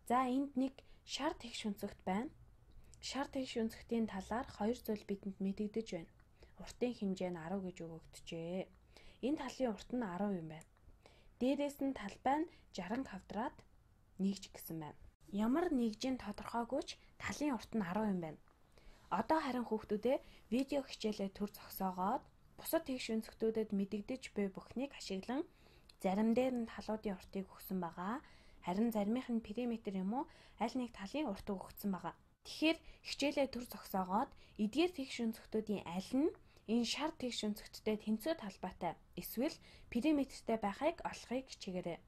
За энд нэг шар тэгш өнцөгт байна. Шар тэгш өнцөгтийн талаар хоёр зүйл бидэнд мэдэгдэж байна. Уртын хэмжээ нь 10 гэж өгөгдөжээ. Энэ талын урт нь 10 юм байна. Дээрээс нь талбай нь 60 квадрат нэгж гэсэн байна. Ямар нэгжийн тодорхойгүй ч талын урт нь 10 юм байна. Одоо харин хүүхдүүдээ видео хичээлээ төр зогсоогоод бусад тэгш өнцгтүүдэд мэдэгдэж буй бүхнийг ашиглан зарим дээр нь талуудын уртыг өгсөн байгаа. Харин заримийнх нь периметр юм уу аль нэг талын уртыг өгсөн байгаа. Тэгэхээр хичээлээ төр зогсоогоод эдгээр тэгш өнцгтүүдийн аль нь энэ шар тэгш өнцгттэй тэнцүү талбайтай эсвэл периметртэй байхыг олохыг хичээгээрэй.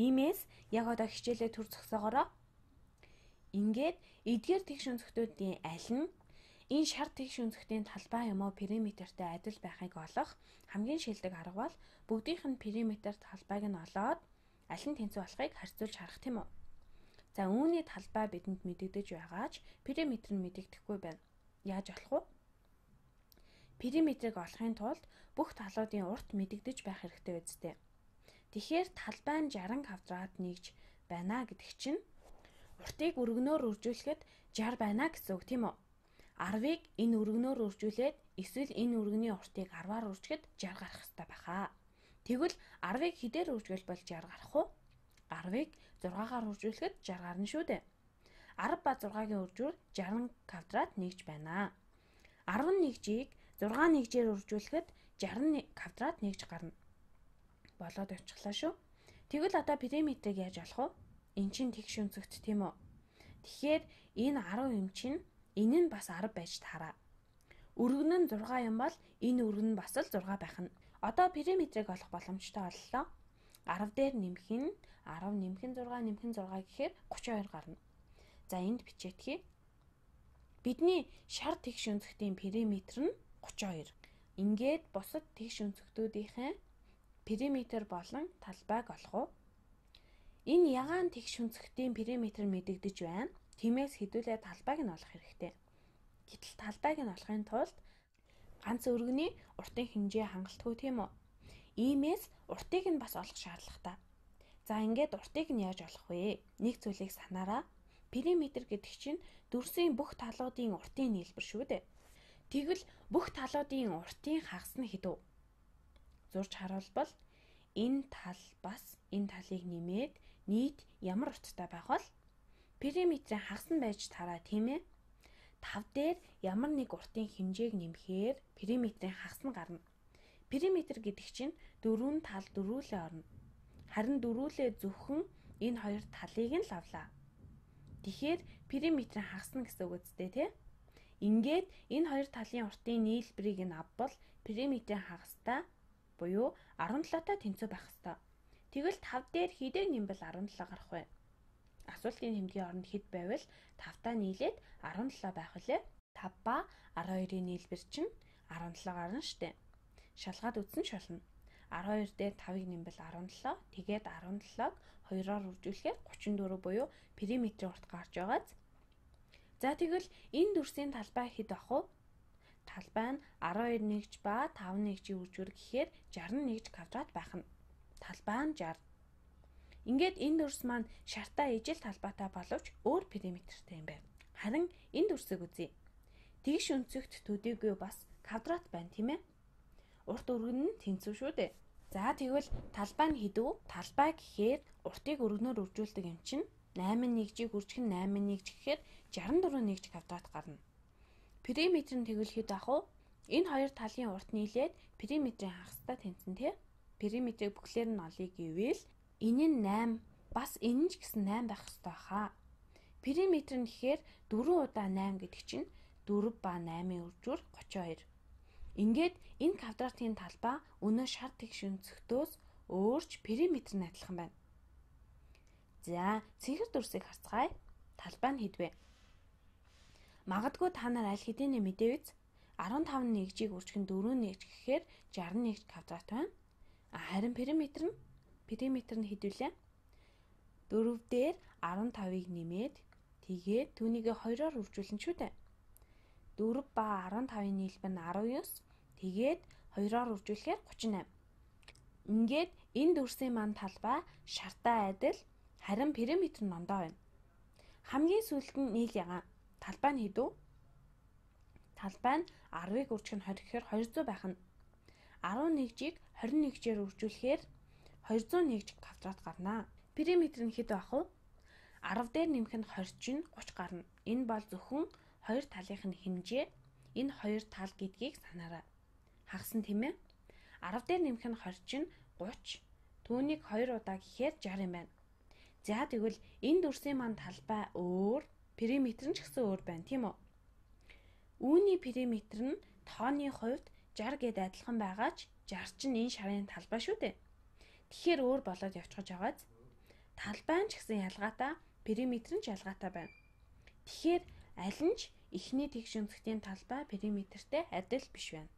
Иймээс яг одоо хичээлээ төр зогсоогоороо. Ингээд эдгээр тэгш өнцгтүүдийн аль нь энэ шар тэгш өнцгтийн талбай юм уу периметртэй адил байхыг олох хамгийн шилдэг арга бол бүгдийнх нь периметр талбайг нь олоод аль нь тэнцүү болохыг харьцуулж харах тийм үү. За үүний талбай бидэнд мэдэгдэж байгаач периметр нь мэдэгдэхгүй байна. Яаж олох вэ? Периметрийг олохын тулд бүх талуудын урт мэдэгдэж байх хэрэгтэй үстэй. Тэгэхээр талбай нь 60 квадрат нэгж байна гэдэг чинь уртыг өргөнөөр үржүүлэхэд 60 байна гэсэн үг тийм үү? 10-ыг энэ өргөнөөр үржүүлээд эсвэл энэ өргөний уртыг 10-аар үржихэд 60 гарах хэрэгтэй байхаа. Тэгвэл 10-ыг хэдээр үржүүлбэл 60 гарах вэ? 10-ыг 6-гаар үржүүлэхэд 60 гарна шүү дээ. 10 ба 6-гийн үржүүр 60 квадрат нэгж байна. 11-ийг 6 нэгжээр үржүүлэхэд 60 квадрат нэгж гарна. Болоод явчихлаа шүү. Тэгвэл одоо периметрийг яаж олох вэ? Эн чинь тэгш өнцөгт тийм үү? Тэгэхээр энэ 10 юм чинь энэ нь бас 10 байж таараа. Өргөн нь 6 юм бол энэ өргөн нь бас л 6 байх нь. Одоо периметрийг олох боломжтой боллоо. 10 дээр нэмэх нь 10 нэмэх нь 6 нэмэх нь 6 гэхээр 32 гарна. За энд бичээдхий. Бидний шар тэгш өнцөгтийн периметр нь 32. Ингээд бусад тэгш өнцгтүүдийнхээ периметр болон талбайг олох уу? Энэ ягаан тэгш өнцгтийн периметр мэдэгдэж байна. Тиймээс хэдүүлээ талбайг нь олох хэрэгтэй. Гэтэл талбайг нь олохын тулд ганц өргөний уртын хэмжээ хангалтгүй тийм үү? Иймээс уртыг нь бас олох шаардлагатай. За ингээд уртыг нь яаж олох вэ? Нэг зүйлийг санаараа. Периметр гэдэг чинь дүрсийн бүх талуудын уртын нийлбэр шүү дээ. Тэгвэл бүх талуудын уртын хагас нь хэдүү? Зурж харуулбал энэ тал бас энэ талыг нэмээд нийт ямар урттай байх вэ? Периметрийн хагас нь байж таараа тийм ээ. 5 дээр ямар нэг уртын хэмжээг нэмэхээр периметрийн хагас нь гарна. Периметр гэдэг чинь дөрвөн тал дөрвүүлээ орно. Харин дөрвүүлээ зөвхөн энэ хоёр талыг нь л авлаа. Тэгэхээр периметрийн хагас нь гэсэн үг үстэй тий. Ингээд энэ хоёр талын уртын нийлбэрийг нь авбал периметрийн хагастай буюу 17-тай тэнцүү байх ёстой. Тэгвэл 5 дээр хэдийг нэмбэл 17 гарах вэ? Асуултын тэмдгийн оронд хэд байвал 5-таа нийлээд 17 байх вүлээ? 5 ба 12-ийн нийлбэр чинь 17 гарна штэ. Шалгаад үзсэн шална. 12 дээр 5-ыг нэмбэл 17, тэгээд 17-г 2-оор үржүүлэхээр 34 буюу периметрийн урт гарч байгааз. За тэгвэл энэ дүрсийн талбай хэд ах вэ? Талбай нь 12 нэгж ба 5 нэгжийн үржүүр гэхээр 61 квадрат байх нь. Талбай нь 60. Ингээд энэ дүрс маань шартай ижил талбайтай боловч өөр периметртэй юм байна. Харин энэ дүрсийг үзье. Тэгш өнцөгт төдийгүй бас квадрат байна тийм ээ. Урт өргөн нь тэнцүү шүү дээ. За тэгвэл талбай нь хэдүү? Талбай гэхээр уртыг өргөнөөр үржүүлдэг юм чинь 8 нэгжийг үржих нь 8 нэгж гэхээр 64 нэгж квадрат гарна. Периметр нь тэгвэл хэд ах вэ? Энэ хоёр талын урт нийлээд периметрийн хагастай тэнцэн тий. Периметрийг бүхлээр нь олъё гэвэл энэ нь 8 бас энэ ч гэсэн 8 байх ёстой хаа. Периметр нь гэхээр 4 удаа 8 гэдэг чинь 4 ба 8-ийн үржүүр 32. Ингээд энэ квадратын талбай өнөө шар тэгш өнцгтөөс өөрч периметр нь адилхан байна. За цэнхэр дүрсийг харцгаая. Талбай нь хэд вэ? Магадгүй та нар аль хэдийн мэдээ биз? 15 нэгжийг үржих нь 4 нэгж гэхээр 61 квадрат байна. Харин периметр нь хэд вүлээ? 4 дээр 15-ыг нэмээд тэгээд түүнийг 2-оор үржүүлнэ шүү дээ. 4 ба 15-ын нийлбэр нь 19. Тэгээд 2-оор үржүүлэхээр 38. Ингээд энэ дүрсийн маань талбай шартай адил Харин периметр нь ондоо байна. Хамгийн сүүлд нь нийл ягаан. Талбай нь хэдүү? Талбай нь 10-ыг үржих нь 20 гэхээр 200 байх нь. 11-ийг 21-жээр үржүүлэхээр 201 квадрат гарна. Периметр нь хэд байх вэ? 10 дээр нэмэх нь 20 чинь 30 гарна. Энэ бол зөвхөн хоёр талынх нь хэмжээ. Энэ хоёр тал гэдгийг санаарай. Хагасан тийм ээ? 10 дээр нэмэх нь 20 чинь 30. Түүнийг 2 удаа гэхээр 60 юм байна. За тэгвэл энэ дүрсийн маань талбай өөр, периметр нь ч гэсэн өөр байна, тийм үү? Үүний периметр нь тооны хувьд 60 гээд адилхан байгаа ч 60 чинь энэ шарын талбай шүү дээ. Тэгэхээр өөр болоод явчихж байгааз. Талбай нь ч гэсэн ялгаатай, периметр нь ч ялгаатай байна. Тэгэхээр аль нь ч эхний тэгш өнцгтийн талбай периметртэй адил биш байна.